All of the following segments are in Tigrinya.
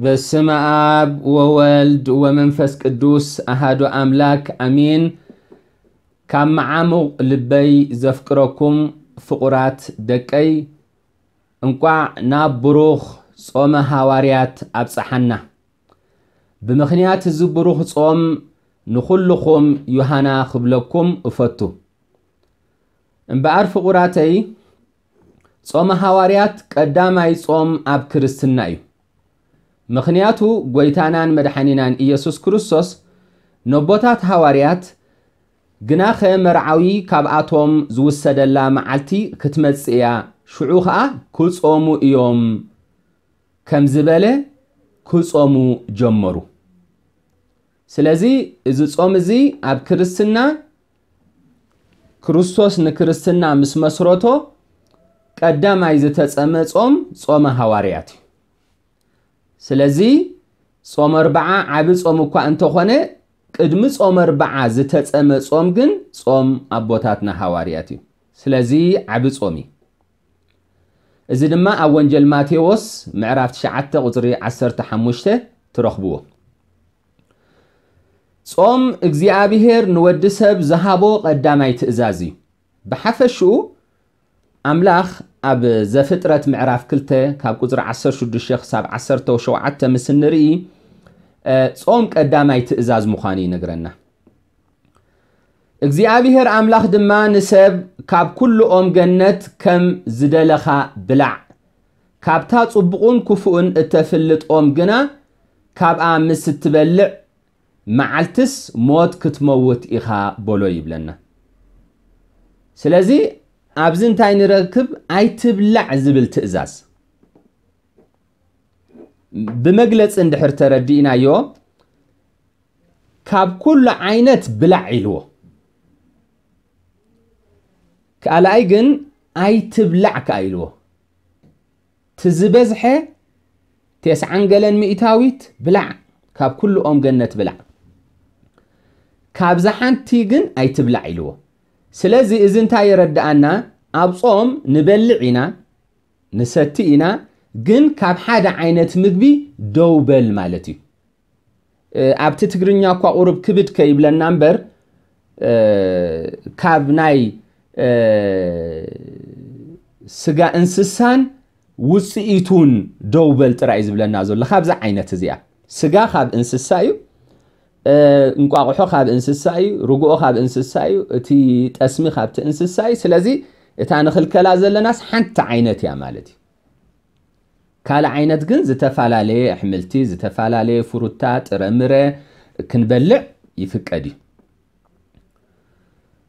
በስመ አብ ወወልድ ወመንፈስ ቅዱስ አሃዱ አምላክ አሜን። ካብ መዓሙቕ ልበይ ዘፍቅረኩም ፍቑራት ደቀይ፣ እንቋዕ ናብ ብሩኽ ጾመ ሃዋርያት ኣብጽሓና። ብምኽንያት እዚ ብሩኽ ጾም ንኹልኹም ዮሃና ክብለኩም እፈቱ። እምበኣር ፍቑራተይ፣ ጾመ ሃዋርያት ቀዳማይ ጾም ኣብ ክርስትና እዩ። ምኽንያቱ ጐይታናን መድሓኒናን ኢየሱስ ክርስቶስ ነቦታት ሃዋርያት፣ ግናኸ መርዓዊ ካብኣቶም ዝውሰደላ መዓልቲ ክትመጽእ እያ፣ ሽዑ ኸኣ ክጾሙ እዮም ከም ዝበለ ክጾሙ ጀመሩ። ስለዚ እዚ ጾም እዚ ኣብ ክርስትና ክርስቶስ ንክርስትና ምስ መስረቶ ቀዳማይ ዝተጸመ ጾም ጾመ ሃዋርያት እዩ። ስለዚ ጾመ ኣርብዓ ዓቢ ጾም እኳ እንተኾነ ቅድሚ ጾመ ኣርብዓ ዝተጸመ ጾም ግን ጾም ኣቦታትና ሃዋርያት እዩ። ስለዚ ዓቢ ጾም እዩ። እዚ ድማ ኣብ ወንጀል ማቴዎስ ምዕራፍ ትሽዓተ ቁጽሪ ዓሰርተ ሓሙሽተ ትረኽብዎ። ጾም እግዚኣብሔር ንወዲ ሰብ ዝሃቦ ቀዳማይ ትእዛዝ እዩ። ብሓፈሽኡ ኣምላኽ ኣብ ዘፍጥረት ምዕራፍ ክልተ ካብ ቁጽሪ ዓሰርተ ሽዱሽተ ክሳብ ዓሰርተ ሸውዓተ ምስ እንርኢ፣ እ፣ ጾም ቀዳማይ ትእዛዝ ምዃኑ ይነግረና። እግዚኣብሔር ኣምላኽ ድማ ንሰብ ካብ ኩሉ ኦም ገነት ከም ዝደለኻ ብላዕ፣ ካብታ ጽቡቕን ክፉእን እተፍልጥ ኦም ግና ካብኣ ምስ እትበልዕ መዓልትስ ሞት ክትመውት ኢኻ በሎ ይብለና። ስለዚ ኣብዚ እንታይ ንረክብ? ኣይትብላዕ ዝብል ትእዛዝ ብመግለጺ እንድሕር ተረዲእናዮ፣ ካብ ኩሉ ዓይነት ብላዕ ኢልዎ። ካልኣይ ግን ኣይትብላዕ ከኣ ኢልዎ። እቲ ዝበዝሐ ተስዓን ገለን ሚእታዊት ብላዕ፣ ካብ ኩሉ ኦም ገነት ብላዕ፣ ካብዛ ሓንቲ ግን ኣይትብላዕ ኢልዎ። ስለዚ እዚ እንታይ የረድኣና? ኣብ ጾም ንበልዕ ኢና፣ ንሰቲ ኢና፣ ግን ካብ ሓደ ዓይነት ምግቢ ደው በል ማለት እዩ። እ፣ ኣብቲ ትግርኛ እኳ ቁሩብ ክብድ ከይብለና እምበር፣ እ፣ ካብ ናይ፣ እ፣ ስጋ እንስሳን ውጽኢቱን ደው በል ጥራይ እዩ ዝብለና ዘሎ። ካብዛ ዓይነት እዚኣ፣ ስጋ ካብ እንስሳ እዩ፣ እ፣ እንቋቑሖ ካብ እንስሳ እዩ፣ ርግኦ ካብ እንስሳ እዩ፣ እቲ ጠስሚ ካብቲ እንስሳ እዩ። ስለዚ እታ ንኽልከላ ዘለናስ ሓንቲ ዓይነት እያ ማለት እዩ። ካልእ ዓይነት ግን ዝተፈላለየ ኣሕምልቲ፣ ዝተፈላለየ ፍሩታ፣ ጥረምረ ክንበልዕ ይፍቀድ እዩ።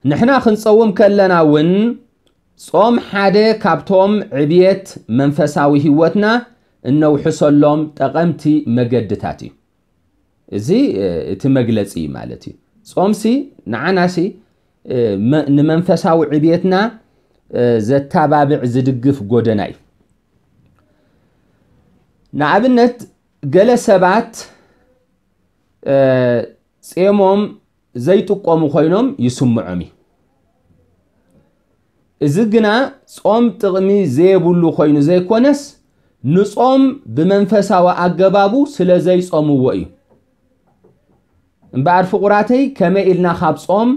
ንሕና ክንጸውም ከለና እውን ጾም ሓደ ካብቶም ዕብየት መንፈሳዊ ህይወትና እነውሕሰሎም ጠቐምቲ መገድታት እዩ። እዚ፣ እ፣ እቲ መግለጺ ማለት እዩ። ጾምሲ ንዓናሲ፣ እ፣ መ-፣ ንመንፈሳዊ ዕብየትና፣ እ፣ ዘተባብዕ ዝድግፍ ጎደና እዩ። ንኣብነት ገለ ሰባት፣ እ፣ ጼሞም ዘይጥቀሙ ኮይኖም ይስምዖም እዩ። እዚ ግና ጾም ጥቕሚ ዘየብሉ ኮይኑ ዘይኮነስ፣ ንጾም ብመንፈሳዊ ኣገባቡ ስለ ዘይጾምዎ እዩ። እምበኣር ፍቑራተይ፣ ከመይ ኢልና ካብ ጾም፣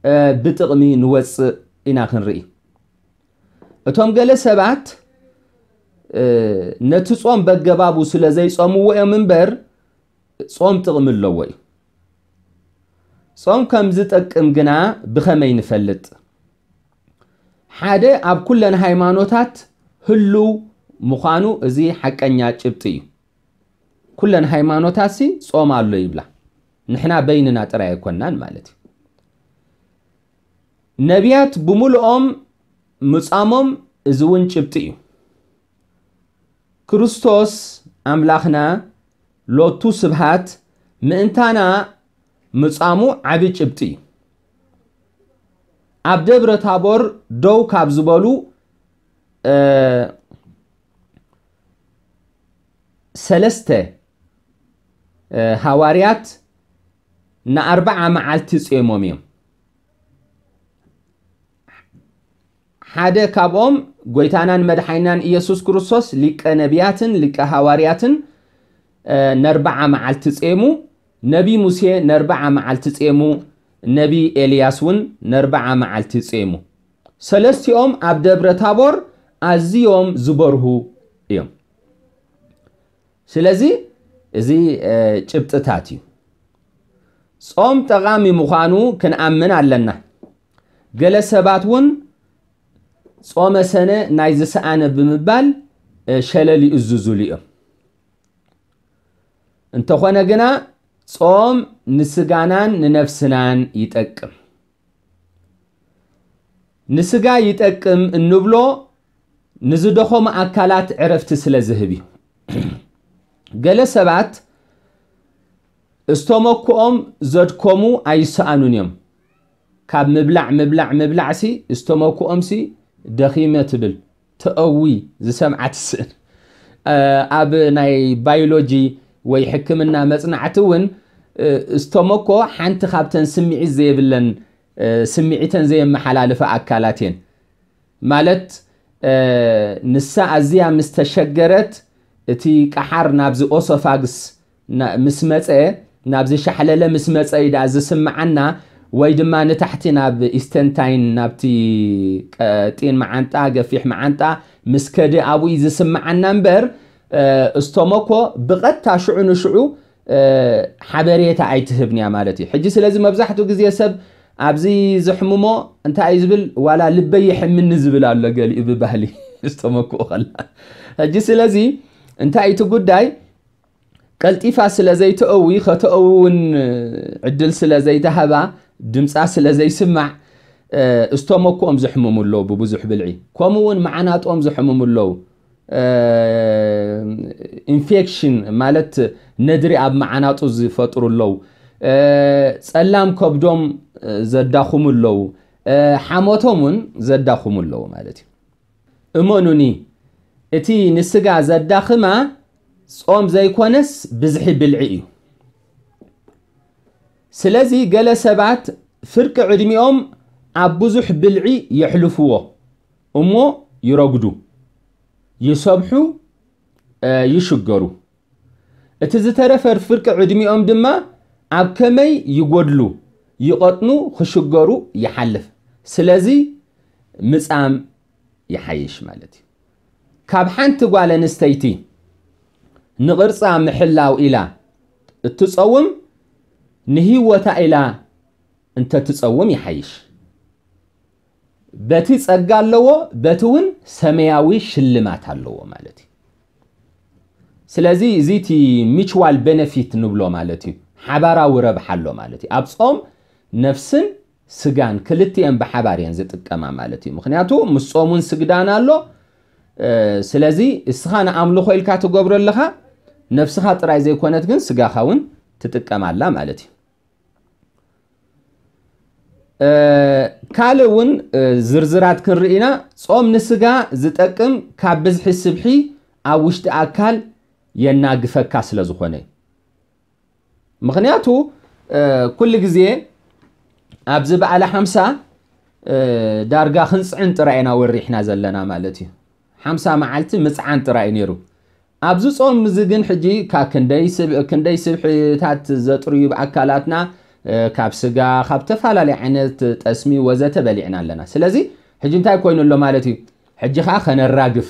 እ፣ ብጥቕሚ ንወጽእ ኢና ክንርኢ። እቶም ገለ ሰባት፣ እ፣ ነቲ ጾም በገባቡ ስለ ዘይጾምዎ እዮም እምበር፣ ጾም ጥቕሚ ኣለዎ እዩ። ጾም ከም ዝጠቅም ግና ብኸመይ ንፈልጥ? ሓደ፣ ኣብ ኩለን ሃይማኖታት ህሉው ምዃኑ እዚ ሓቀኛ ጭብጢ እዩ። ኩለን ሃይማኖታትሲ ጾም ኣሎ ይብላ። ንሕና በይንና ጥራይ ኣይኮናን ማለት እዩ። ነቢያት ብምሉኦም ምጻሞም እዚ እውን ጭብጢ እዩ። ክርስቶስ ኣምላኽና ሎቱ ስብሃት ምእንታና ምጻሙ ዓቢ ጭብጢ እዩ። ኣብ ደብረ ታቦር ደው ካብ ዝበሉ፣ እ፣ ሰለስተ፣ እ፣ ሃዋርያት ንኣርብዓ መዓልቲ ጼሞም እዮም። ሓደ ካብኦም ጐይታናን መድሓኒናን ኢየሱስ ክርስቶስ ሊቀ ነቢያትን ሊቀ ሃዋርያትን፣ ነርባዓ መዓልቲ ጼሙ፣ ነቢ ሙሴ ነርባዓ መዓልቲ ጼሙ፣ ነቢ ኤልያስ እውን ነርባዓ መዓልቲ ጼሙ። ሰለስቲኦም ኣብ ደብረ ታቦር ኣዝዮም ዝበርሁ እዮም። ስለዚ እዚ ጭብጥታት እዩ። ጾም ጠቓሚ ምዃኑ ክንኣምን ኣለና። ገለ ሰባት እውን ጾመ ሰነ ናይ ዝሰኣነ ብምባል ሸለል ይእዝዙሉ እዮም። እንተኾነ ግና ጾም ንስጋናን ንነፍስናን ይጠቅም። ንስጋ ይጠቅም እንብሎ ንዝደኸሙ ኣካላት ዕረፍቲ ስለ ዝህብ እዩ። ገለ ሰባት እስተመክኦም ዘድከሙ ኣይሰኣኑን እዮም። ካብ ምብላዕ ምብላዕ ምብላዕሲ እስተመክኦምሲ ደኺመ ትብል ተእዊ ዝሰምዓ ትስእን። ኣብ ናይ ባዮሎጂ ወይ ሕክምና መጽናዕቲ እውን እስተመኮ ሓንቲ ካብተን ስምዒት ዘይብለን ስምዒተን ዘየመሓላልፋ ኣካላት እየን። ማለት ንሳ ኣዝያ ምስ ተሸገረት እቲ ቀሓር ናብዚ ኦሶፋግስ ምስ መፀ ናብዚ ሻሕለለ ምስ መፀ እዩ ደኣ ዝስምዓና፣ ወይ ድማ ንታሕቲ ናብ ኢስተንታይን ናብቲ ቀጢን መዓንጣ ገፊሕ መዓንጣ ምስ ከደ ኣብኡ እዩ ዝስምዓና እምበር እስቶሞኮ ብቐጥታ ሽዑ ንሽዑ ሓበሬታ ኣይትህብን እያ ማለት እዩ። ሕጂ ስለዚ መብዛሕትኡ ግዜ ሰብ ኣብዚ ዝሕምሞ እንታይ እዩ ዝብል፣ ዋላ ልበይ ይሕምኒ ዝብል ኣሎ ገሊኡ ብባህሊ እስተመክኡ ከላ። ሕጂ ስለዚ እንታይ እቲ ጉዳይ፣ ቀልጢፋ ስለ ዘይተእዊ፣ ከተእዊ እውን ዕድል ስለ ዘይተሃባ፣ ድምፃ ስለ ዘይስማዕ፣ እስተመክኦም ዝሕምሙ ኣለዉ ብብዙሕ ብልዒ፣ ከምኡ እውን መዓናጥኦም ዝሕምሙ ኣለዉ። ኢንፌክሽን ማለት ነድሪ ኣብ መዓናጡ ዝፈጥሩ ኣለዉ። ጸላም ከብዶም ዘዳኹሙ ኣለዉ። ሓሞቶም እውን ዘዳኹሙ ኣለዉ ማለት እዩ። እመኑኒ፣ እቲ ንስጋ ዘዳኽማ ጾም ዘይኮነስ ብዝሒ ብልዒ እዩ። ስለዚ ገለ ሰባት ፍርቂ ዕድሚኦም ኣብ ብዙሕ ብልዒ የሕልፍዎ እሞ ይረጉዱ፣ ይሰብሑ፣ ይሽገሩ። እቲ ዝተረፈ ፍርቂ ዕድሚኦም ድማ ኣብ ከመይ ይጎድሉ፣ ይቐጥኑ፣ ክሽገሩ ይሓልፍ። ስለዚ ምጻም ይሓይሽ ማለት እዩ። ካብ ሓንቲ ጓል ኣንስተይቲ ንቕርጻ ምሕላው ኢላ እትጸውም ንህይወታ ኢላ እንተትጸውም ይሓይሽ። በቲ ጸጋ ኣለዎ፣ በቲ እውን ሰማያዊ ሽልማት ኣለዎ ማለት እዩ። ስለዚ እዚ እቲ ሚቹዋል ቤነፊት ንብሎ ማለት እዩ፣ ሓባራዊ ረብሓ ኣሎ ማለት እዩ። ኣብ ጾም ነፍስን ስጋን ክልቲኤን ብሓባር እየን ዝጥቀማ ማለት እዩ። ምክንያቱ ምስ ጾም እውን ስግዳን ኣሎ። ስለዚ እስኻ ንኣምልኾ ኢልካ ትገብሮ ኣለኻ፣ ነፍስኻ ጥራይ ዘይኮነት ግን ስጋኻ እውን ትጥቀም ኣላ ማለት እዩ። ካልእ እውን ዝርዝራት ክንርኢ ኢና። ጾም ንስጋ ዝጠቅም ካብ ብዝሒ ስብሒ ኣብ ውሽጢ ኣካል የናግፈካ ስለ ዝኾነ እዩ። ምክንያቱ ኩሉ ግዜ ኣብዚ በዓለ ሓምሳ ዳርጋ ክንፅዕን ጥራይ ኢና ወሪሕና ዘለና ማለት እዩ። ሓምሳ መዓልቲ ምፅዓን ጥራይ እዩ ነይሩ። ኣብዚ ጾም እዚ ግን ሕጂ ካብ ክንደይ ስብ- ክንደይ ስብሕታት ዘጥርዩ ኣካላትና ካብ ስጋ ካብ ተፈላለዩ ዓይነት ጠስሚ ወዘተ በሊዕና ኣለና። ስለዚ ሕጂ እንታይ ኮይኑ ኣሎ ማለት እዩ? ሕጂ ከዓ ከነራግፍ።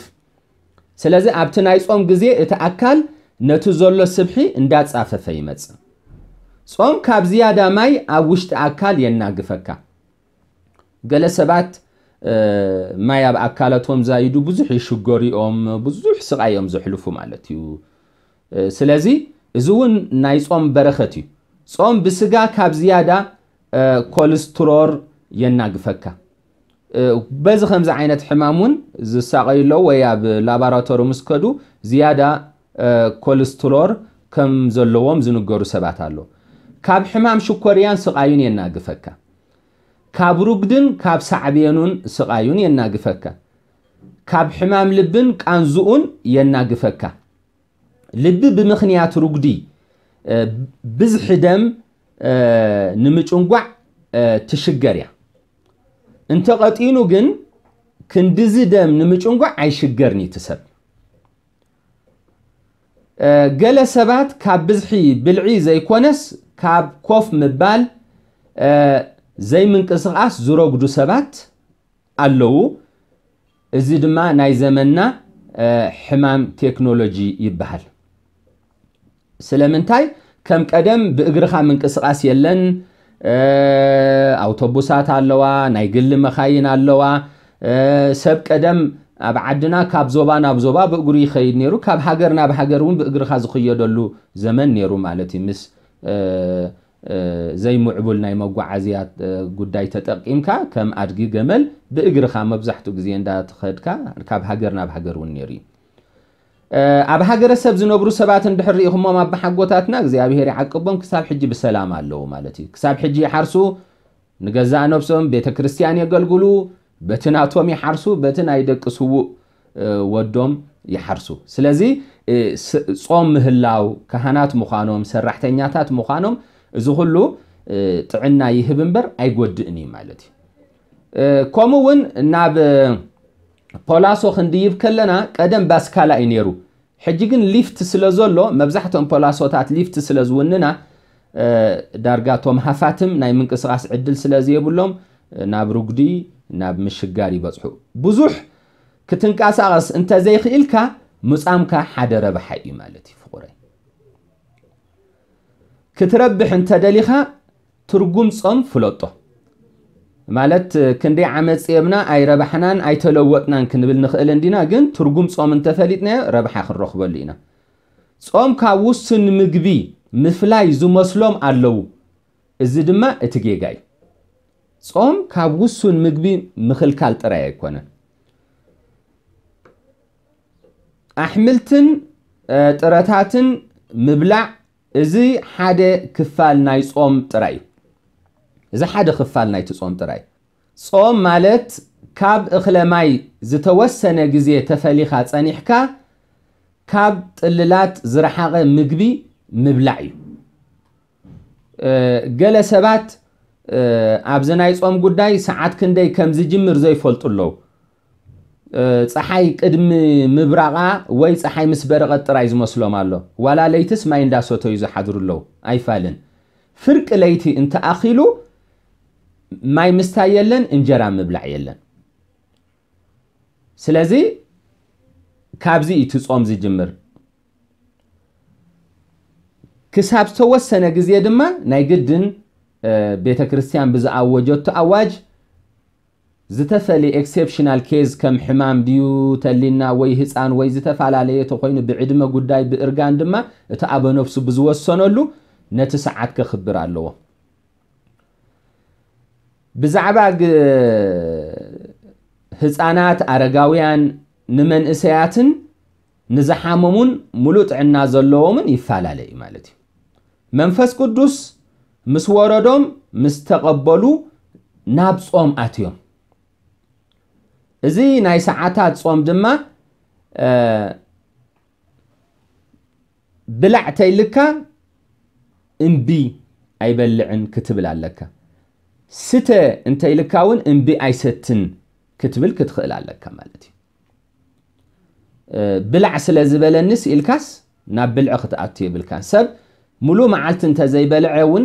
ስለዚ ኣብቲ ናይ ጾም ግዜ እቲ ኣካል ነቲ ዘሎ ስብሒ እንዳጻፈፈ ይመጽእ። ጾም ካብ ዝያዳ ማይ ኣብ ውሽጢ ኣካል የናግፈካ። ገለ ሰባት ማይ ኣብ ኣካላቶም ዛይዱ ብዙሕ ይሽገሩ እዮም፣ ብዙሕ ስቓይ እዮም ዘሕልፉ ማለት እዩ። ስለዚ እዚ እውን ናይ ጾም በረኸት እዩ። ጾም ብስጋ ካብ ዝያዳ ኮልስትሮር የናግፈካ። በዚ ከምዚ ዓይነት ሕማም እውን ዝሳቐዩ ኣለዉ ወይ ኣብ ላባራቶሪ ምስ ከዱ ዝያዳ ኮልስትሮር ከም ዘለዎም ዝንገሩ ሰባት ኣሎ። ካብ ሕማም ሽኮርያን ስቓዩን የናግፈካ። ካብ ሩግድን ካብ ሳዕቤኑን ስቓዩን የናግፈካ። ካብ ሕማም ልብን ቃንዝኡን የናግፈካ። ልቢ ብምኽንያት ሩግዲ ብዝሒ ደም ንምጭንጓዕ ትሽገር እያ። እንተቐጢኑ ግን ክንድዚ ደም ንምጭንጓዕ ኣይሽገርን እዩ እቲ ሰብ። ገለ ሰባት ካብ ብዝሒ ብልዒ ዘይኮነስ ካብ ኮፍ ምባል ዘይምንቅስቓስ ዝረጉዱ ሰባት ኣለዉ። እዚ ድማ ናይ ዘመንና ሕማም ቴክኖሎጂ ይበሃል። ስለምንታይ ከም ቀደም ብእግርኻ ምንቅስቓስ የለን። ኣውቶቡሳት ኣለዋ፣ ናይ ግሊ መኻይን ኣለዋ። ሰብ ቀደም ኣብ ዓድና ካብ ዞባ ናብ ዞባ ብእግሩ ይኸይድ ነይሩ፣ ካብ ሃገር ናብ ሃገር እውን ብእግርኻ ዝኽየደሉ ዘመን ነይሩ ማለት እዩ። ምስ ዘይምዕቡል ናይ መጓዓዝያ ጉዳይ ተጠቂምካ ከም ኣድጊ ገመል ብእግርኻ መብዛሕትኡ ግዜ እንዳተኸድካ ካብ ሃገር ናብ ሃገር እውን ነይሩ እዩ። ኣብ ሃገረሰብ ዝነብሩ ሰባት እንድሕር ርኢኹሞም ኣባሓጎታትና እግዚኣብሄር ይዓቅቦም ክሳብ ሕጂ ብሰላም ኣለዉ ማለት እዩ። ክሳብ ሕጂ ይሓርሱ፣ ንገዛእ ነብሶም ቤተ ክርስቲያን የገልግሉ፣ በቲ ናቶም ይሓርሱ፣ በቲ ናይ ደቂ ስዉእ ወዶም ይሓርሱ። ስለዚ ጾም ምህላው፣ ካህናት ምዃኖም፣ ሰራሕተኛታት ምዃኖም፣ እዚ ኩሉ ጥዕና ይህብ እምበር ኣይጎድእን እዩ ማለት እዩ። ከምኡ እውን ናብ ፖላሶ ክንድይብ ከለና ቀደም ባስካላ እዩ ነይሩ። ሕጂ ግን ሊፍት ስለ ዘሎ መብዛሕትኦም ፖላሶታት ሊፍት ስለ ዝውንና ዳርጋ ቶም ሃፋትም ናይ ምንቅስቓስ ዕድል ስለ ዘየብሎም ናብ ርጉዲ ናብ ምሽጋር ይበፅሑ። ብዙሕ ክትንቀሳቐስ እንተዘይኽኢልካ ምፃምካ ሓደ ረብሓ እዩ ማለት እዩ ፍቑረይ። ክትረብሕ እንተደሊኻ ትርጉም ጾም ፍለጦ። ማለት ክንደይ ዓመት ጼምና ኣይረባሕናን ኣይተለወጥናን ክንብል ንኽእል እንዲና፣ ግን ትርጉም ጾም እንተፈሊጥናዮ ረብሓ ክንረኽበሉ ኢና። ጾም ካብ ውሱን ምግቢ ምፍላይ ዝመስሎም ኣለዉ። እዚ ድማ እቲ ጌጋ እዩ። ጾም ካብ ውሱን ምግቢ ምኽልካል ጥራይ ኣይኮነን። ኣሕምልትን ጥረታትን ምብላዕ እዚ ሓደ ክፋል ናይ ጾም ጥራይ እዩ። እዚ ሓደ ክፋል ናይቲ ጾም ጥራይ። ጾም ማለት ካብ እኽለ ማይ ዝተወሰነ ግዜ ተፈሊኻ ጸኒሕካ ካብ ጥልላት ዝረሓቐ ምግቢ ምብላዕ እዩ። ገለ ሰባት ኣብዚ ናይ ጾም ጉዳይ ሰዓት ክንደይ ከም ዝጅምር ዘይፈልጡ ኣለዉ። ጸሓይ ቅድሚ ምብራቓ ወይ ጸሓይ ምስ በረቐት ጥራይ ዝመስሎም ኣሎ። ዋላ ለይትስ ማይ እንዳሰተዩ ዝሓድሩ ኣለዉ። ኣይፋልን። ፍርቂ ለይቲ እንተኣኺሉ ማይ ምስታይ የለን፣ እንጀራ ምብላዕ የለን። ስለዚ ካብዚ እዩ እቲ ጾም ዝጅምር። ክሳብ ዝተወሰነ ግዜ ድማ ናይ ግድን ቤተ ክርስቲያን ብዝኣወጀቶ ኣዋጅ ዝተፈለየ ኤክሴፕሽናል ኬዝ ከም ሕማም ድዩ ተሊና ወይ ህፃን ወይ ዝተፈላለየ ተኮይኑ ብዕድመ ጉዳይ ብእርጋን ድማ እቲ ኣበነፍሱ ብዝወሰነሉ ነቲ ሰዓት ከኽብር ኣለዎ። ብዛዕባ ህፃናት፣ ኣረጋውያን፣ ንመንእሰያትን ንዝሓመሙን ሙሉእ ጥዕና ዘለዎምን ይፈላለ እዩ ማለት እዩ። መንፈስ ቅዱስ ምስ ወረዶም ምስ ተቐበሉ ናብ ጾም ኣትዮም። እዚ ናይ ሰዓታት ጾም ድማ ብላዕ ተይልካ እምቢ ኣይበልዕን ክትብል ኣለካ። ስተ እንተይልካ እውን እምቢ ኣይሰትን ክትብል ክትኽእል ኣለካ ማለት እዩ። ብላዕ ስለ ዝበለኒስ ኢልካስ ናብ ብልዒ ክትኣቱ የብልካን። ሰብ ሙሉእ መዓልቲ እንተዘይበልዐ እውን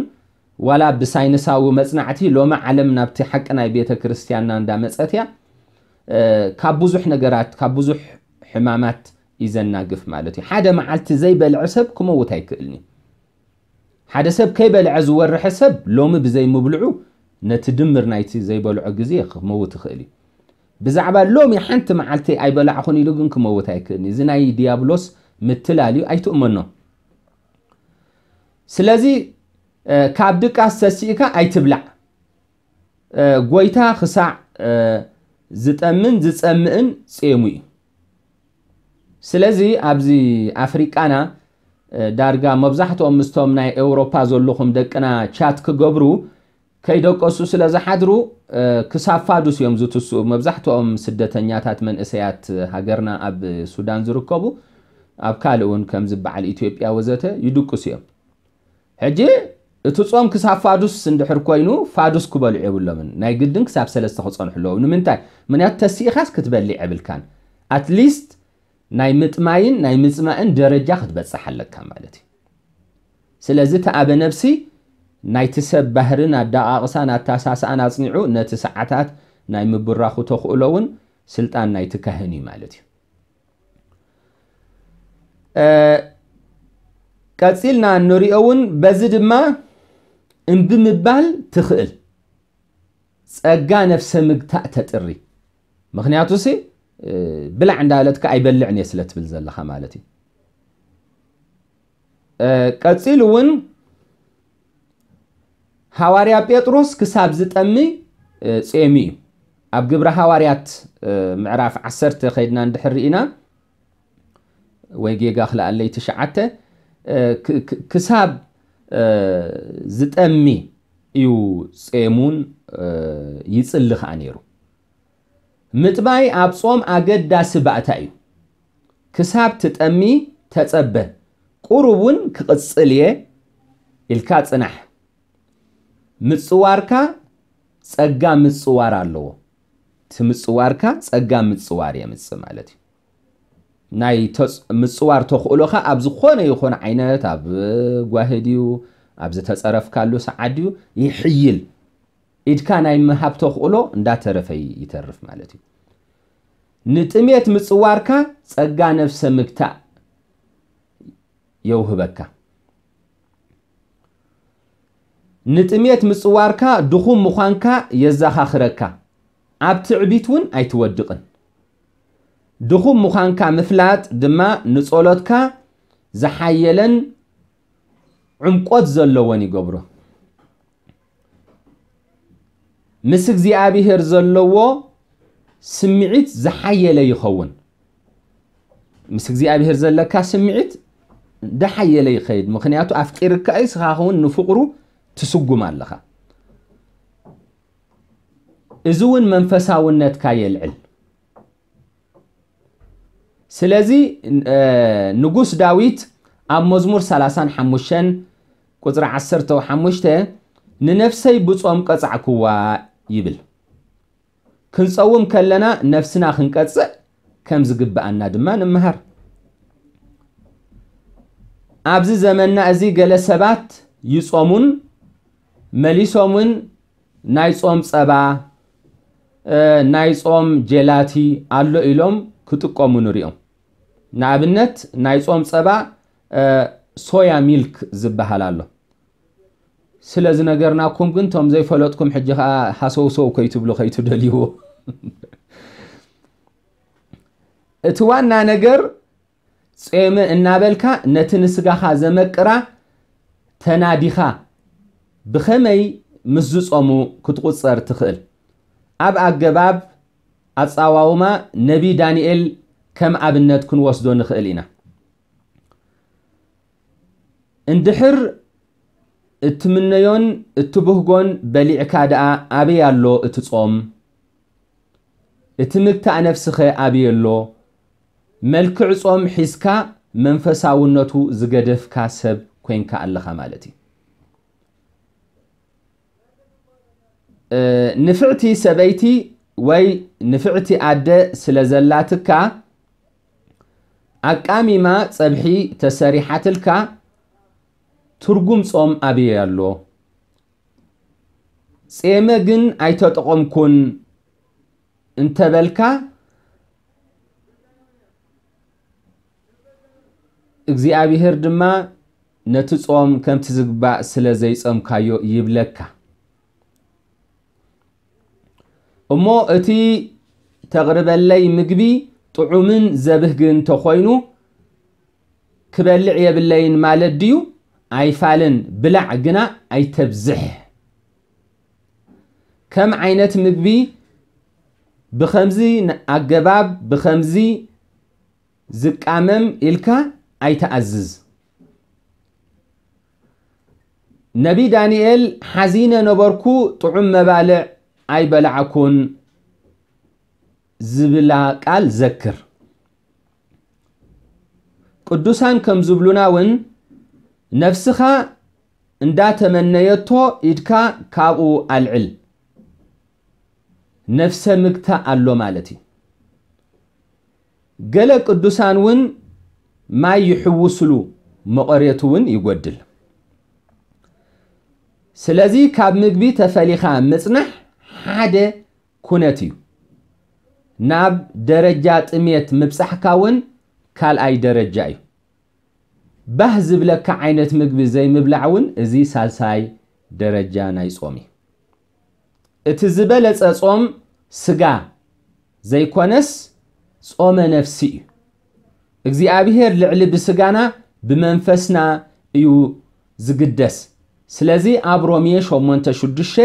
ዋላ ብሳይንሳዊ መፅናዕቲ ሎሚ ዓለም ናብቲ ሓቂ ናይ ቤተ ክርስቲያንና እንዳመፀት እያ። ካብ ብዙሕ ነገራት ካብ ብዙሕ ሕማማት ይዘናግፍ ማለት እዩ። ሓደ መዓልቲ ዘይበልዐ ሰብ ክመውት ኣይክእልን እዩ። ሓደ ሰብ ከይበልዐ ዝወርሐ ሰብ ሎሚ ብዘይምብልዑ ነቲ ድምር ናይቲ ዘይበልዖ ግዜ ክመውት ይኽእል እዩ። ብዛዕባ ሎሚ ሓንቲ መዓልቲ ኣይበላዕኹን ኢሉ ግን ክመውት ኣይክእልን እዩ። እዚ ናይ ዲያብሎስ ምትላል እዩ፣ ኣይትእመኖ። ስለዚ ካብ ድቃስ ተሲእካ ኣይትብላዕ። ጎይታ ክሳዕ ዝጠምን ዝጸምእን ጼሙ እዩ። ስለዚ ኣብዚ ኣፍሪቃና ዳርጋ መብዛሕትኦም ምስቶም ናይ ኤውሮፓ ዘለኹም ደቅና ቻት ክገብሩ ከይደቀሱ ስለ ዝሓድሩ ክሳብ ፋዱስ እዮም ዝትስኡ። መብዛሕትኦም ስደተኛታት መንእሰያት ሃገርና ኣብ ሱዳን ዝርከቡ ኣብ ካልእ እውን ከምዚ በዓል ኢትዮጵያ ወዘተ ይድቅሱ እዮም። ሕጂ እቲ ጾም ክሳብ ፋዱስ እንድሕር ኮይኑ ፋዱስ ክበልዑ የብሎምን። ናይ ግድን ክሳብ ሰለስተ ክጸንሑ ኣለዎም። ንምንታይ? ምክንያቱ ተሲኢኻስ ክትበልዕ የብልካን። ኣትሊስት ናይ ምጥማይን ናይ ምጽማእን ደረጃ ክትበጽሕ ኣለካ ማለት እዩ። ስለዚ እቲ ኣበ ነብሲ ናይቲ ሰብ ባህርን ኣደቓቕሳን ኣተሳስኣን ኣጽኒዑ ነቲ ሰዓታት ናይ ምብራኹ ተኽእሎ እውን ስልጣን ናይቲ ካህን እዩ ማለት እዩ። እ፣ ቀጺልና እንሪኦ እውን በዚ ድማ እምቢ ምባል ትኽእል። ጸጋ ነፍሰ ምግታእ ተጥሪ። ምኽንያቱ ሲ፣ እ፣ ብላዕ እንዳበለትካ ኣይበልዕን እየ ስለ ትብል ዘለኻ ማለት እዩ። እ፣ ቀጺሉ እውን ሃዋርያ ጴጥሮስ ክሳብ ዝጠሚ፣ እ፣ ጼሙ እዩ። ኣብ ግብረ ሃዋርያት፣ እ፣ ምዕራፍ ዓሰርተ ከይድና እንድሕር ርኢና፣ ወይ ጌጋ ክልኣለይ ትሽዓተ፣ እ፣ ክ-፣ ክ-፣ ክሳብ፣ እ፣ ዝጠሚ እዩ ጼሙን፣ እ፣ ይጽሊ ኸኣ ነይሩ። ምጥማይ ኣብ ጾም ኣገዳሲ ባእታ እዩ። ክሳብ ትጠሚ ተጸበ፣ ቁሩብ እውን ክቕጽል እየ ኢልካ ጽናሕ። ምጽዋርካ ጸጋ ምጽዋር ኣለዎ። እቲ ምጽዋርካ ጸጋ ምጽዋር የምጽእ ማለት እዩ። ናይ ተጽ-፣ ምጽዋር ተኽእሎኻ ኣብ ዝኾነ ይኹን ዓይነት፣ ኣብ ጓሂ ድዩ፣ ኣብ ዝተጸረፍካሉ ሰዓት ድዩ፣ ይሕይል። ኢድካ ናይ ምሃብ ተኽእሎ እንዳተረፈ ይተርፍ ማለት እዩ። ንጥሜት ምጽዋርካ ጸጋ ነፍሰ ምግታእ የውህበካ። ንጥሜት ምጽዋርካ ድኹም ምዃንካ የዘኻኽረካ። ኣብ ትዕቢት እውን ኣይትወድቕን። ድኹም ምዃንካ ምፍላጥ ድማ ንጸሎትካ ዝሓየለን ዕምቆት ዘለዎን ይገብሮ። ምስ እግዚኣብሔር ዘለዎ ስምዒት ዝሓየለ ይኸውን። ምስ እግዚኣብሔር ዘለካ ስምዒት ዝሓየለ ይኸይድ። ምኽንያቱ ኣፍቂርካ እዩ፣ ንስኻ እውን ንፍቕሩ ትስጉም ኣለኻ። እዚ እውን መንፈሳውነትካ የልዕል። ስለዚ፣ እ፣ ንጉስ ዳዊት ኣብ መዝሙር ሰላሳን ሓሙሽተን ቁጽሪ ዓሰርተ ሓሙሽተ፣ "ንነፍሰይ ብጾም ቀጻዕክዋ" ይብል። ክንጸውም ከለና ነፍስና ክንቀጽዕ ከም ዝግብኣና ድማ ንምሃር። ኣብዚ ዘመንና እዚ ገለ ሰባት ይጾሙን መሊሶምን ናይ ጾም ጸባ፣ እ፣ ናይ ጾም ጀላቲ ኣሎ ኢሎም ክጥቀሙ ንሪኦም። ንኣብነት፣ ናይ ጾም ጸባ፣ እ፣ ሶያ ሚልክ ዝበሃል ኣሎ። ስለ ዝነገርናኩም ግን፣ ቶም ዘይፈለጥኩም ሕጂ ኸኣ ሃሰውሰው ከይትብሉ ከይትደልይዎ። እቲ ዋና ነገር፣ ጾመ እናበልካ ነቲ ንስጋኻ ዘመቅራ ተናዲኻ ብኸመይ ምስ ዝጾሙ ክትቁጸር ትኽእል? ኣብ ኣገባብ ኣጻዋውማ ነቢ ዳንኤል ከም ኣብነት ክንወስዶ ንኽእል ኢና። እንድሕር እትምነዮን እትብህጎን በሊዕካ ደኣ ኣበይ ኣሎ እቲ ጾም? እቲ ምግታእ ነፍስኸ ኣበይ ኣሎ? መልክዕ ጾም ሒዝካ መንፈሳውነቱ ዝገደፍካ ሰብ ኮይንካ ኣለኻ ማለት እዩ። እ፣ ንፍዕቲ ሰበይቲ ወይ ንፍዕቲ ኣደ ስለ ዘላትካ፣ ኣቃሚማ ጸብሒ ተሰሪሓትልካ፣ ትርጉም ጾም ኣበይ ኣሎ? ጼመ ግን ኣይተጠቐምኩን እንተበልካ፣ እግዚኣብሔር ድማ ነቲ ጾም ከምቲ ዝግባእ ስለ ዘይጾምካዮ ይብለካ። እሞ እቲ ተቕርበለይ ምግቢ ጥዑምን ዘብህግን ተኾይኑ፣ ክበልዕ የብለይን ማለት ድዩ? ኣይፋልን፣ ብላዕ ግና ኣይተብዝሕ። ከም ዓይነት ምግቢ ብኸምዚ ን-፣ ኣገባብ ብኸምዚ ዝቃመም ኢልካ ኣይትኣዝዝ። ነቢ ዳንኤል፣ "ሓዚነ ነበርኩ፣ ጥዑም መባልዕ ኣይበላዕኩን" ዝብላ ቃል ዘክር። ቅዱሳን ከም ዝብሉና እውን፣ "ነፍስኻ እንዳተመነየቶ ኢድካ ካብኡ ኣልዕል" ነፍሰ ምግታእ ኣሎ ማለት እዩ። ገለ ቅዱሳን እውን ማይ ይሕውስሉ፣ መቐሬቱ እውን ይጎድል። ስለዚ ካብ ምግቢ ተፈሊኻ ምጽናሕ ሓደ ኩነት እዩ። ናብ ደረጃ ጥሜት ምብጻሕካ እውን ካልኣይ ደረጃ እዩ። ባህ ዝብለካ ዓይነት ምግቢ ዘይምብላዕ እውን እዚ ሳልሳይ ደረጃ ናይ ጾም እዩ። እቲ ዝበለጸ ጾም ስጋ ዘይኮነስ ጾመ ነፍሲ እዩ። እግዚኣብሔር ልዕሊ ብስጋና ብመንፈስና እዩ ዝግደስ። ስለዚ ኣብ ሮሜ ሸሞንተ ሽዱሽተ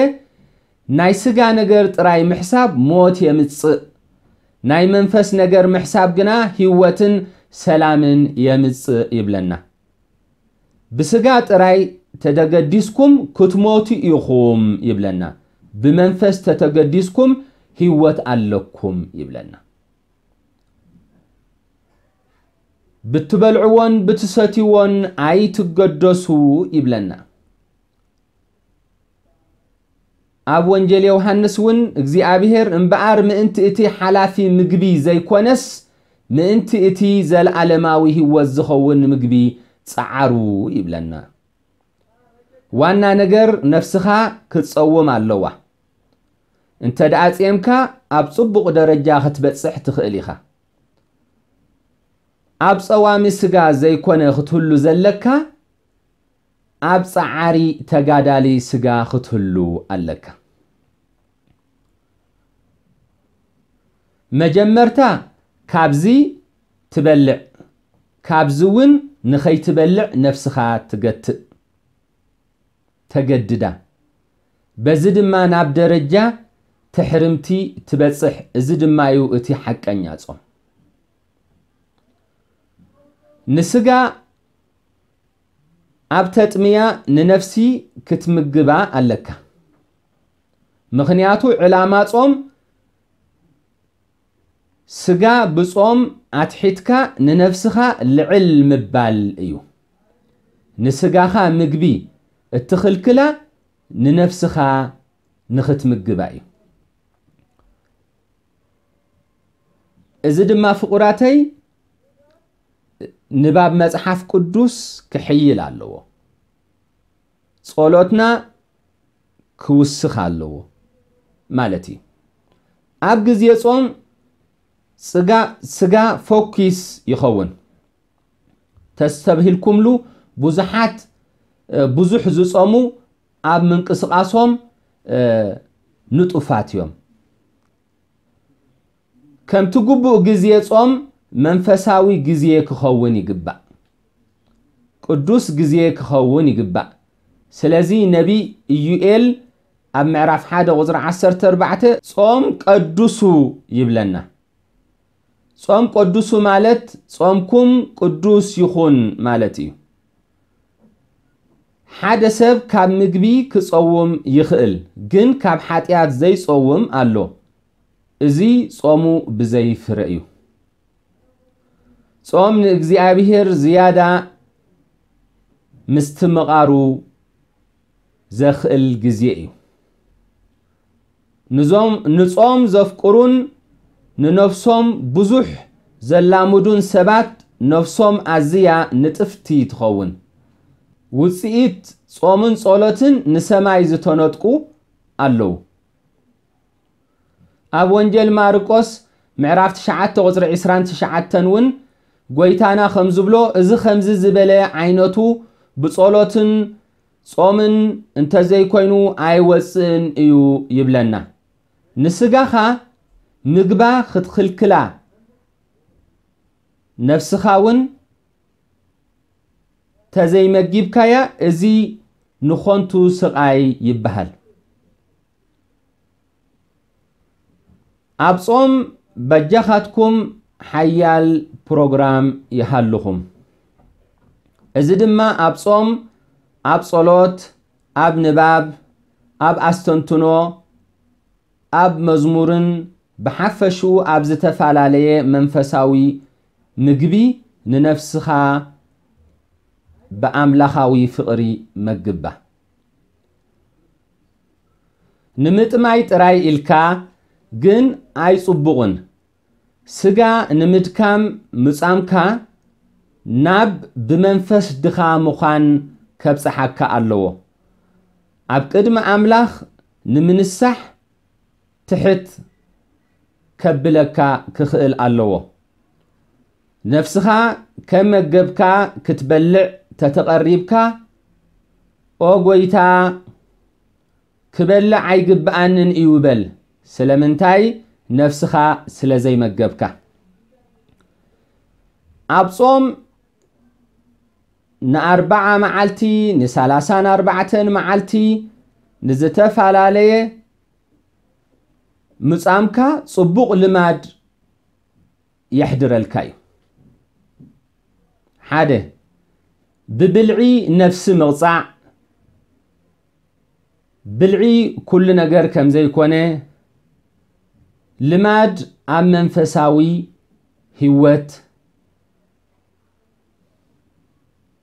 ናይ ስጋ ነገር ጥራይ ምሕሳብ ሞት የምጽእ፣ ናይ መንፈስ ነገር ምሕሳብ ግና ህይወትን ሰላምን የምጽእ ይብለና። ብስጋ ጥራይ ተደገዲስኩም ክትሞቱ ኢኹም ይብለና። ብመንፈስ ተተገዲስኩም ህይወት ኣለኩም ይብለና። ብትበልዕዎን ብትሰትይዎን ኣይትገደሱ ይብለና። ኣብ ወንጌል ዮሃንስ እውን እግዚኣብሔር እምበኣር ምእንቲ እቲ ሓላፊ ምግቢ ዘይኮነስ ምእንቲ እቲ ዘለዓለማዊ ህይወት ዝኸውን ምግቢ ጸዓሩ ይብለና። ዋና ነገር ነፍስኻ ክትጸውም ኣለዋ። እንተ ደኣ ጼምካ ኣብ ጽቡቕ ደረጃ ክትበጽሕ ትኽእል ኢኻ። ኣብ ጸዋሚ ስጋ ዘይኮነ ክትህሉ ዘለካ፣ ኣብ ጸዓሪ ተጋዳሊ ስጋ ክትህሉ ኣለካ። መጀመርታ ካብዚ ትበልዕ፣ ካብዚ እውን ንኸይትበልዕ ነፍስኻ ትገትእ፣ ተገድዳ። በዚ ድማ ናብ ደረጃ ትሕርምቲ ትበጽሕ። እዚ ድማ እዩ እቲ ሓቀኛ ጾም። ንስጋ ኣብ ተጥምያ ንነፍሲ ክትምግባ ኣለካ። ምኽንያቱ ዕላማ ጾም ስጋ ብጾም ኣትሒትካ ንነፍስኻ ልዕል ምባል እዩ። ንስጋኻ ምግቢ እትኽልክላ ንነፍስኻ ንኽትምግባ እዩ። እዚ ድማ ፍቑራተይ ንባብ መጽሓፍ ቅዱስ ክሕይል ኣለዎ። ጸሎትና ክውስኽ ኣለዎ ማለት እዩ። ኣብ ግዜ ጾም ጽጋ-፣ ስጋ ፎኪስ ይኸውን። ተስተብሂልኩምሉ ብዙሓት፣ እ፣ ብዙሕ ዝጾሙ ኣብ ምንቅስቓሶም፣ እ፣ ንጡፋት እዮም። ከምቲ ግቡእ ግዜ ጾም መንፈሳዊ ግዜ ክኸውን ይግባእ። ቅዱስ ግዜ ክኸውን ይግባእ። ስለዚ ነቢይ ኢዩኤል ኣብ ምዕራፍ ሓደ ቁጽሪ ዓሰርተ ኣርባዕተ ጾም ቀድሱ ይብለና። ጾም ቀድሱ ማለት ጾምኩም ቅዱስ ይኹን ማለት እዩ። ሓደ ሰብ ካብ ምግቢ ክጸውም ይኽእል፣ ግን ካብ ሓጢኣት ዘይጸውም ኣሎ። እዚ ጾሙ ብዘይ ፍረ እዩ። ጾም ንእግዚኣብሔር ዝያዳ ምስትምቓሩ ዘኽእል ግዜ እዩ። ንዞም-፣ ንጾም ዘፍቅሩን ንነፍሶም ብዙሕ ዘላምዱን ሰባት ነፍሶም ኣዝያ ንጥፍቲ ትኸውን። ውጽኢት ጾምን ጸሎትን ንሰማይ ዝተነጥቁ ኣለዉ። ኣብ ወንጌል ማርቆስ ምዕራፍ ትሽዓተ ቁጽሪ ዕስራን ትሽዓተን እውን ጎይታና ከም ዝብሎ፣ እዚ ከምዚ ዝበለ ዓይነቱ ብጸሎትን ጾምን እንተዘይኮይኑ ኣይወጽእን እዩ ይብለና። ንስጋኻ ምግባ ክትኽልክላ፣ ነፍስኻ እውን ተዘይመጊብካያ፣ እዚ ንኾንቱ ስቓይ ይበሃል። ኣብ ጾም በጃኻትኩም ሓያል ፕሮግራም ይሃልኹም። እዚ ድማ ኣብ ጾም፣ ኣብ ጸሎት፣ ኣብ ንባብ፣ ኣብ ኣስተንትኖ፣ ኣብ መዝሙርን ብሓፈሽኡ ኣብ ዝተፈላለየ መንፈሳዊ ምግቢ ንነፍስኻ ብኣምላኻዊ ፍቕሪ መግባ። ንምጥማይ ጥራይ ኢልካ ግን ኣይጽቡቕን። ስጋ ንምድካም ምጻምካ ናብ ብመንፈስ ድኻ ምዃን ከብጽሓካ ኣለዎ። ኣብ ቅድሚ ኣምላኽ ንምንሳሕ ትሕት ከብለካ ክኽእል ኣለዎ። ነፍስኻ ከም መገብካ ክትበልዕ ተተቐሪብካ፣ "ኦ ጐይታ፣ ክበልዕ ኣይግብኣንን እዩ" በል። ስለምንታይ? ነፍስኻ ስለ ዘይመገብካ። ኣብ ጾም ንኣርብዓ መዓልቲ፣ ንሰላሳን ኣርባዕተን መዓልቲ፣ ንዝተፈላለየ ምጻምካ ጽቡቕ ልማድ የሕድረልካ እዩ። ሓደ፣ ብብልዒ ነፍሲ ምቕጻዕ። ብልዒ ኩሉ ነገር ከም ዘይኮነ፣ ልማድ ኣብ መንፈሳዊ ህይወት፣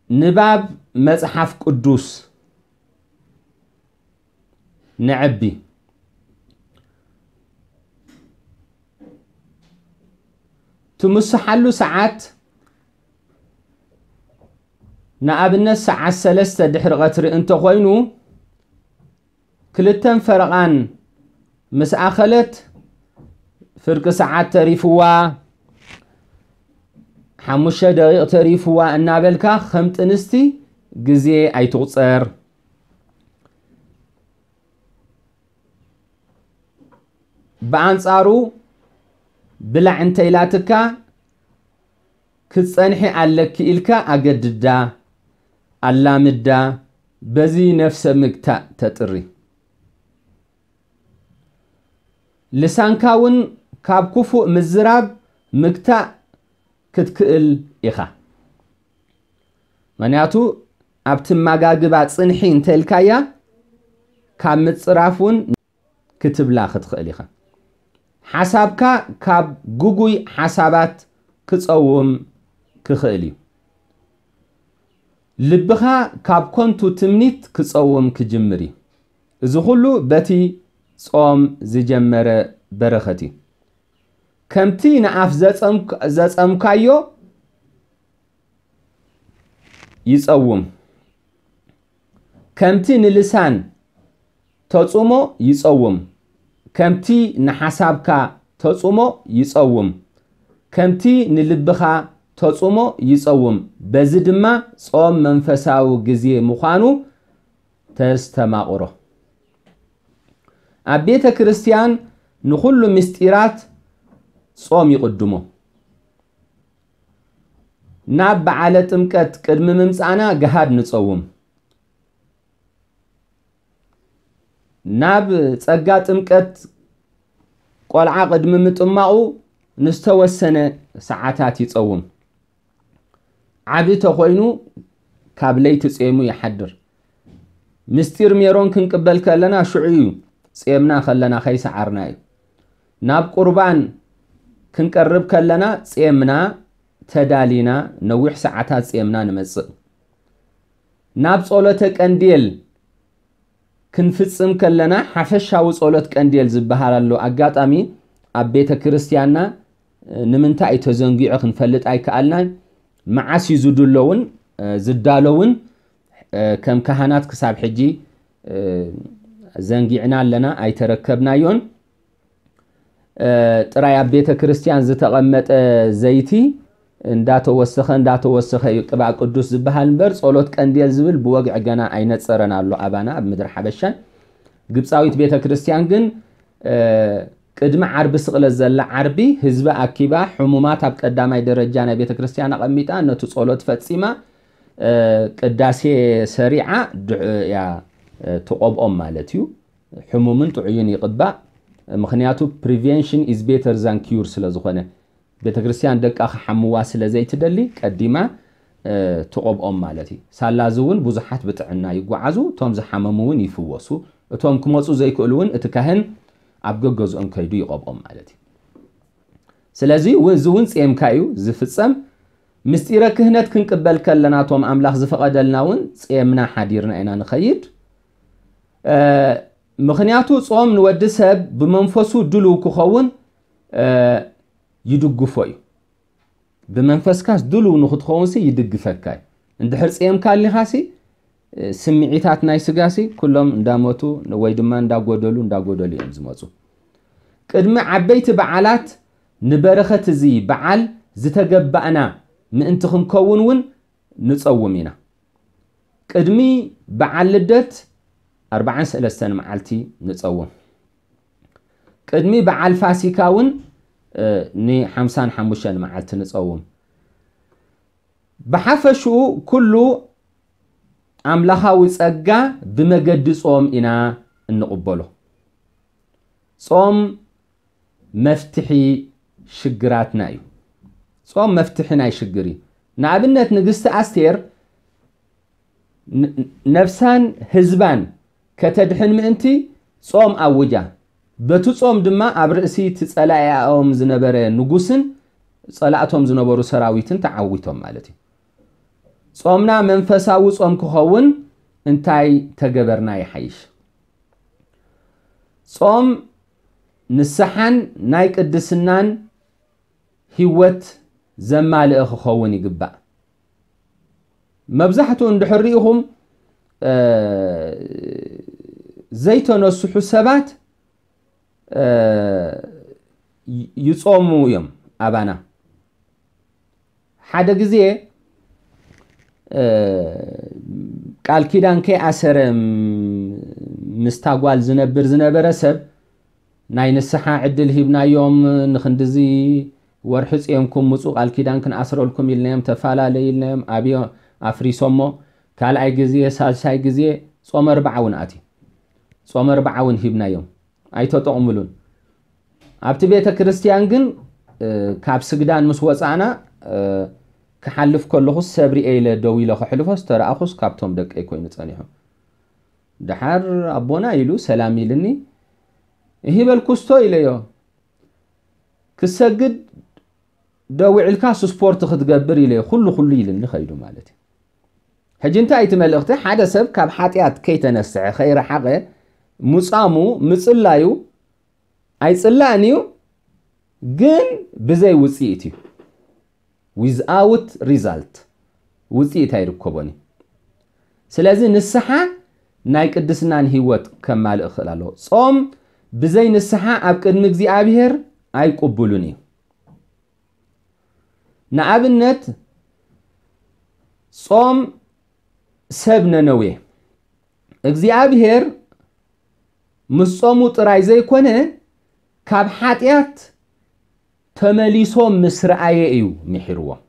ንባብ መጽሓፍ ቅዱስ ነዐቢ። ትምስሓሉ ሰዓት፣ ንኣብነት፣ ሰዓት ሰለስተ ድሕሪ ቀትሪ እንተኾይኑ፣ ክልተን ፈረቓን ምስ ኣኸለት፣ ፍርቂ ሰዓት ተሪፍዋ፣ ሓሙሽተ ደቂቕ ተሪፍዋ እናበልካ ከም ጥንስቲ ግዜ ኣይትቑጸር። ብኣንጻሩ፣ ብላዕ እንተ ኢላትካ፣ "ክትጸንሒ ኣለኪ" ኢልካ ኣገድዳ፣ ኣላምዳ፣ በዚ ነፍሰ ምግታእ ተጥሪ። ልሳንካ እውን ካብ ክፉእ ምዝራብ ምግታእ ክትክእል ኢኻ። ምኽንያቱ፣ ኣብ ትመጋግባ ጽንሒ እንተ ኢልካያ፣ ካብ ምጽራፍ እውን ክትብላ ክትኽእል ኢኻ። ሓሳብካ ካብ ግጉይ ሓሳባት ክጸውም ክኽእል እዩ። ልብኻ ካብ ኮንቱ ትምኒት ክጸውም ክጅምር እዩ። እዚ ኹሉ በቲ ጾም ዝጀመረ በረኸት እዩ። ከምቲ ንኣፍ ዘጸምክ-፣ ዘጸምካዮ ይጸውም። ከምቲ ንልሳን ተጽሞ ይጸውም። ከምቲ ንሓሳብካ ተጽሞ ይጸውም። ከምቲ ንልብኻ ተጽሞ ይጸውም። በዚ ድማ ጾም መንፈሳዊ ግዜ ምዃኑ ተስተማቕሮ። ኣብ ቤተ ክርስቲያን ንኹሉ ምስጢራት ጾም ይቕድሞ። ናብ በዓለ ጥምቀት ቅድሚ ምምጻእና ገሃድ ንጸውም። ናብ ጸጋ ጥምቀት ቆልዓ ቅድሚ ምጥማቑ ንዝተወሰነ ሰዓታት ይጸውም። ዓቢ ተኾይኑ ካብ ለይቲ ጼሙ ይሓድር። ምስጢር ሜሮን ክንቅበል ከለና ሽዑ እዩ ጼምና ከለና ከይሰዓርና እዩ። ናብ ቁርባን ክንቀርብ ከለና ጼምና ተዳሊና ነዊሕ ሰዓታት ጼምና ንመጽእ። ናብ ጸሎተ ቀንዴል ክንፍጽም ከለና ሓፈሻዊ ጸሎት ቀንዴል ዝበሃል ኣሎ። ኣጋጣሚ ኣብ ቤተ ክርስቲያንና ንምንታይ እዩ ተዘንጊዑ ክንፈልጥ ኣይከኣልናን። መዓስ እዩ ዝድሎውን ዝዳለውን ከም ካህናት ክሳብ ሕጂ ዘንጊዕና ኣለና፣ ኣይተረከብናዮን። ጥራይ ኣብ ቤተ ክርስቲያን ዝተቐመጠ ዘይቲ እንዳተወሰኸ እንዳተወሰኸ እዩ ቅብኣ ቅዱስ ዝበሃል እምበር፣ ጸሎት ቀንዴል ዝብል ብወግዒ ገና ኣይነጸረን ኣሎ ኣባና ኣብ ምድሪ ሓበሻን። ግብጻዊት ቤተ ክርስቲያን ግን ቅድሚ ዓርቢ ስቕለት ዘላ ዓርቢ ህዝቢ ኣኪባ፣ ሕሙማት ኣብ ቀዳማይ ደረጃ ናይ ቤተ ክርስቲያን ኣቐሚጣ፣ ነቲ ጸሎት ፈጺማ፣ ቅዳሴ ሰሪዓ ድዕ-፣ እያ ትቐብኦም ማለት እዩ። ሕሙምን ጥዑይን ይቕባእ። ምኽንያቱ፣ prevention is better than cure ስለ ዝኾነ፣ ቤተ ክርስቲያን ደቃ ክሓምዋ ስለ ዘይትደሊ፣ ቀዲማ ትቐብኦም ማለት እዩ። ሳላ እዚ እውን ብዙሓት ብጥዕና ይጓዓዙ፣ እቶም ዝሓመሙ እውን ይፍወሱ፣ እቶም ክመፁ ዘይክእሉ እውን እቲ ካህን ኣብ ገገዝኦም ከይዱ ይቐብኦም ማለት እዩ። ስለዚ እውን፣ እዚ እውን ጼምካ እዩ ዝፍጸም። ምስጢረ ክህነት ክንቅበል ከለና፣ እቶም ኣምላኽ ዝፈቐደልና እውን ጼምና ሓዲርና ኢና ንኸይድ። ምኽንያቱ፣ ጾም ንወዲ ሰብ ብመንፈሱ ድሉው ክኸውን ይድግፎ እዩ። ብመንፈስካስ ድሉው ንኽትኸውንሲ ይድግፈካ እዩ። እንድሕር ጽየምካ ኣሊኻሲ፣ እ፣ ስምዒታት ናይ ስጋሲ ኩሎም እንዳሞቱ ወይ ድማ እንዳጎደሉ፣ እንዳጎደሉ እዮም ዝመጹ። ቅድሚ ዓበይቲ በዓላት ንበረኸት እዚ በዓል ዝተገባእና ምእንቲ ክንከውን እውን ንጸውም ኢና። ቅድሚ በዓል ልደት ኣርባዓን ሰለስተን መዓልቲ ንጸውም። ቅድሚ በዓል ፋሲካ እውን፣ እ፣ ንሓምሳን ሓሙሽተን መዓልቲ ንጸውም። ብሓፈሽኡ ኩሉ ኣምላኻዊ ጸጋ ብመገዲ ጾም ኢና እንቕበሎ። ጾም መፍትሒ ሽግራትና እዩ። ጾም መፍትሒ ናይ ሽግር እዩ። ንኣብነት ንግስቲ ኣስቴር ን-፣ ነፍሳን ህዝባን ከተድሕን ምእንቲ ጾም ኣውጃ። በቲ ጾም ድማ ኣብ ርእሲ እቲ ጸላኢኦም ዝነበረ ንጉስን ጸላእቶም ዝነበሩ ሰራዊትን ተዓዊቶም ማለት እዩ። ጾምና መንፈሳዊ ጾም ክኸውን እንታይ ተገበርና ይሓይሽ? ጾም ንስሓን ናይ ቅድስናን ህይወት ዘማልአ ክኸውን ይግባእ። መብዛሕትኡ እንድሕር ርኢኹም፣ እ፣ ዘይተነስሑ ሰባት፣ እ፣ ይ-፣ ይጾሙ እዮም ኣባና። ሓደ ግዜ፣ እ፣ ቃል ኪዳን ከይኣሰረ ም-፣ ምስታ ጓል ዝነብር ዝነበረ ሰብ ናይ ንስሓ ዕድል ሂብናዮም፣ ንኽንድዚ ወርሒ ጽዮምኩም ምጹ ቃል ኪዳን ክንኣስረልኩም ኢልናዮም፣ ተፈላለዩ ኢልናዮም፣ ኣብዮ ኣፍሪሶሞ፣ ካልኣይ ግዜ፣ ሳልሳይ ግዜ ጾመ ኣርብዓ እውን ኣትዩ። ጾመ ኣርብዓ እውን ሂብናዮም። ኣይተጠቕምሉን። ኣብቲ ቤተ ክርስቲያን ግን፣ እ፣ ካብ ስግዳን ምስ ወጻእና፣ እ፣ ክሓልፍ ከለኹስ ሰብ ሪኤ ኢለ ደው ኢለ ከሕልፎስ ተረኣኹስ ካብቶም ደቀይ ኮይኑ ጸኒሑ። ደሓር ኣቦና ኢሉ ሰላም ኢልኒ። እሂ በልኩስቶ ኢለዮ። ክሰግድ ደው ኢልካ ስፖርት ክትገብር ኢለዮ። ኩሉ ኩሉ ኢልኒ ከይዱ ማለት እዩ። ሕጂ እንታይ እቲ መልእኽቲ? ሓደ ሰብ ካብ ሓጢኣት ከይተነስሐ፣ ከይረሓቐ፣ ሙጻሙ፣ ምጽላዩ ኣይጽላእን እዩ፣ ግን ብዘይ ውጽኢት እዩ። Without result፣ ውጽኢት ኣይርከቦን እዩ። ስለዚ ንስሓ ናይ ቅድስናን ህይወት ከማልእ ክኽእል ኣለዎ። ጾም ብዘይ ንስሓ ኣብ ቅድሚ እግዚኣብሔር ኣይቅቡልን እዩ። ንኣብነት፣ ጾም ሰብ ነነዌ እግዚኣብሔር ምስ ጾሙ ጥራይ ዘይኮነ፣ ካብ ሓጢኣት ተመሊሶም ምስ ረኣየ እዩ ምሒርዎም።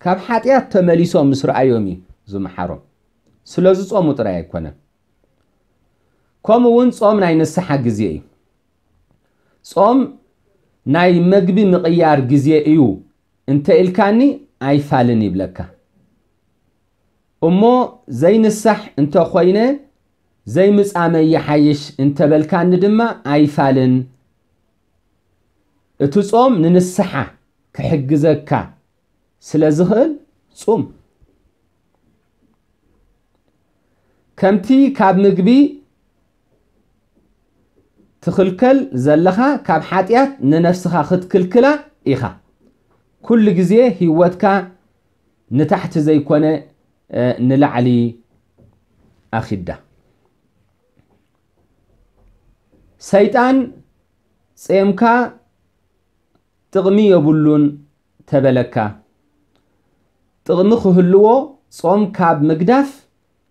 ካብ ሓጢኣት ተመሊሶም ምስ ረኣዮም እዩ ዝመሓሮም። ስለ ዝጾሙ ጥራይ ኣይኮነን። ከምኡ እውን ጾም ናይ ንስሓ ግዜ እዩ። ጾም ናይ መግቢ ምቕያር ግዜ እዩ እንተ ኢልካኒ ኣይፋልን ይብለካ። እሞ ዘይንሳሕ እንተ ኾይነ ዘይምጻመይ ይሓይሽ እንተ በልካኒ ድማ ኣይፋልን። እቲ ጾም ንንስሓ ክሕግዘካ ስለ ዝኽእል ጹም። ከምቲ ካብ ምግቢ ትኽልከል ዘለኻ ካብ ሓጢኣት ንነፍስኻ ክትክልክላ ኢኻ። ኩሉ ግዜ ህይወትካ ንታሕቲ ዘይኮነ፣ እ፣ ንላዕሊ ኣኺዳ። ሰይጣን ጼምካ ጥቕሚ የብሉን ተበለካ፣ ጥቕሚ ክህልዎ ጾም ካብ ምግዳፍ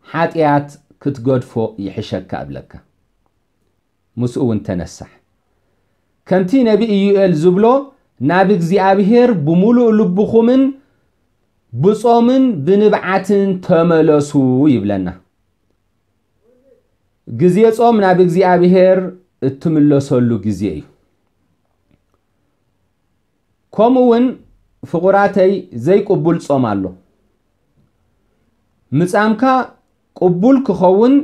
ሓጢኣት ክትገድፎ ይሕሸካ እብለካ። ምስኡ እውን ተነሳሕ። ከምቲ ነቢ ኢዩኤል ዝብሎ፣ ናብ እግዚኣብሔር ብምሉእ ልብኹምን ብጾምን ብንብዓትን ተመለሱ ይብለና። ግዜ ጾም ናብ እግዚኣብሔር እትምለሰሉ ግዜ እዩ። ከምኡ እውን ፍቑራተይ ዘይቅቡል ጾም ኣሎ። ምጻምካ ቅቡል ክኸውን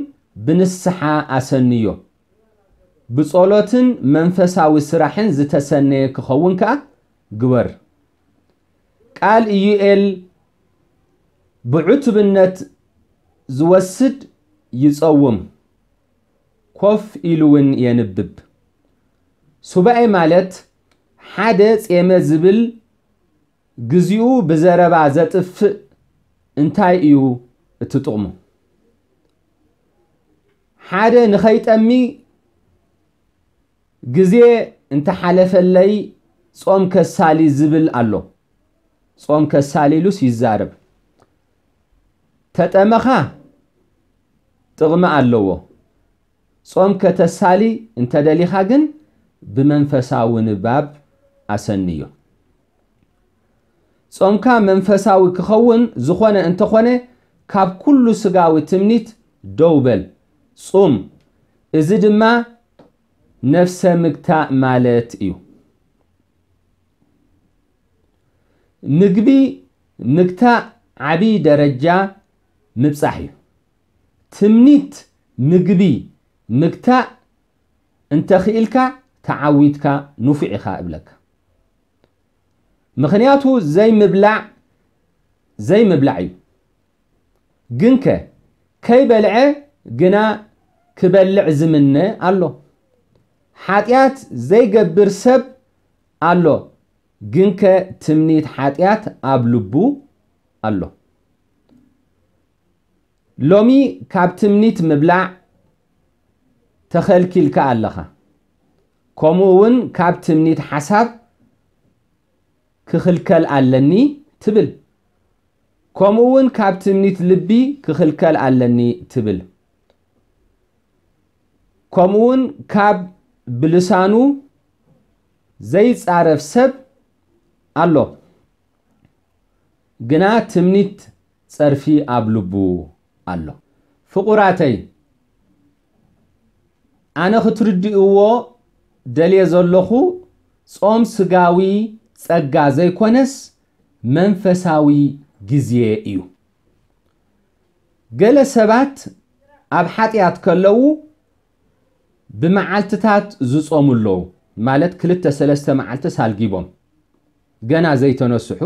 ብንስሓ ኣሰንዮ። ብጸሎትን መንፈሳዊ ስራሕን ዝተሰነየ ክኸውን ከኣ ግበር። ቃል ኢዩኤል ብዕቱብነት ዝወስድ ይጸውም፣ ኮፍ ኢሉ እውን የንብብ። ሱባኤ ማለት ሓደ ጼመ ዝብል ግዚኡ ብዘረባ ዘጥፍእ እንታይ እዩ እቲ ጥቕሙ? ሓደ ንኸይጠሚ ግዜ እንተሓለፈለይ ጾም ከሳሊ ዝብል ኣሎ። ጾም ከሳሊ ኢሉስ ይዛረብ። ተጠመኻ ጥቕሚ ኣለዎ። ጾም ከተሳሊ እንተደሊኻ ግን ብመንፈሳዊ ንባብ ኣሰንዮ። ጾምካ መንፈሳዊ ክኸውን ዝኾነ እንተኾነ ካብ ኩሉ ስጋዊ ትምኒት ደው በል፣ ጹም። እዚ ድማ ነፍሰ ምግታእ ማለት እዩ። ምግቢ ምግታእ ዓቢ ደረጃ ምብጻሕ እዩ። ትምኒት ምግቢ ምግታእ እንተኽኢልካ ተዓዊትካ ንፉዕ ኢኻ እብለካ። ምኽንያቱ ዘይምብላዕ ዘይምብላዕ እዩ። ግንከ ከይበልዐ ግና ክበልዕ ዝምነ ኣሎ። ሓጢኣት ዘይገብር ሰብ ኣሎ፣ ግንከ ትምኒት ሓጢኣት ኣብ ልቡ ኣሎ። ሎሚ ካብ ትምኒት ምብላዕ ተኸልኪልካ ኣለኻ። ከምኡ እውን ካብ ትምኒት ሓሳብ ክኽልከል ኣለኒ ትብል። ከምኡ እውን ካብ ትምኒት ልቢ ክኽልከል ኣለኒ ትብል። ከምኡ እውን ካብ ብልሳኑ ዘይጻረፍ ሰብ ኣሎ፣ ግና ትምኒት ጸርፊ ኣብ ልቡ ኣሎ። ፍቑራተይ፣ ኣነ ክትርድእዎ ደልየ ዘለኹ ጾም ስጋዊ ጸጋ ዘይኮነስ መንፈሳዊ ግዜ እዩ። ገለ ሰባት ኣብ ሓጢኣት ከለዉ ብመዓልትታት ዝጾሙ ኣለዉ፣ ማለት ክልተ ሰለስተ መዓልቲ ሳልጊቦም ገና ዘይተነስሑ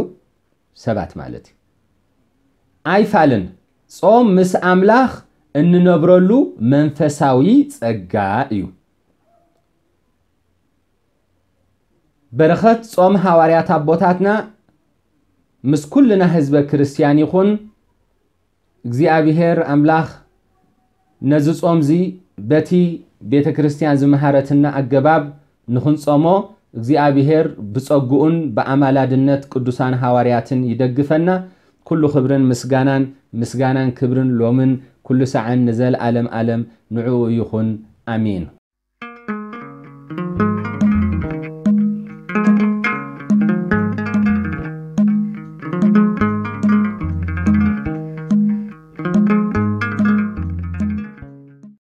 ሰባት ማለት እዩ። ኣይፋልን፣ ጾም ምስ ኣምላኽ እንነብረሉ መንፈሳዊ ጸጋ እዩ። በረኸት ጾም ሃዋርያት ኣቦታትና ምስ ኩልና ህዝበ ክርስትያን ይኹን። እግዚኣብሔር ኣምላኽ ነዚ ጾምዚ በቲ ቤተ ክርስትያን ዝመሃረትና ኣገባብ ንኽንጾሞ እግዚኣብሔር ብጸግኡን ብኣማላድነት ቅዱሳን ሃዋርያትን ይደግፈና። ኩሉ ክብርን ምስጋናን፣ ምስጋናን ክብርን ሎምን ኩሉ ሳዕን ንዘለዓለም ዓለም ንዕኡ ይኹን። ኣሜን።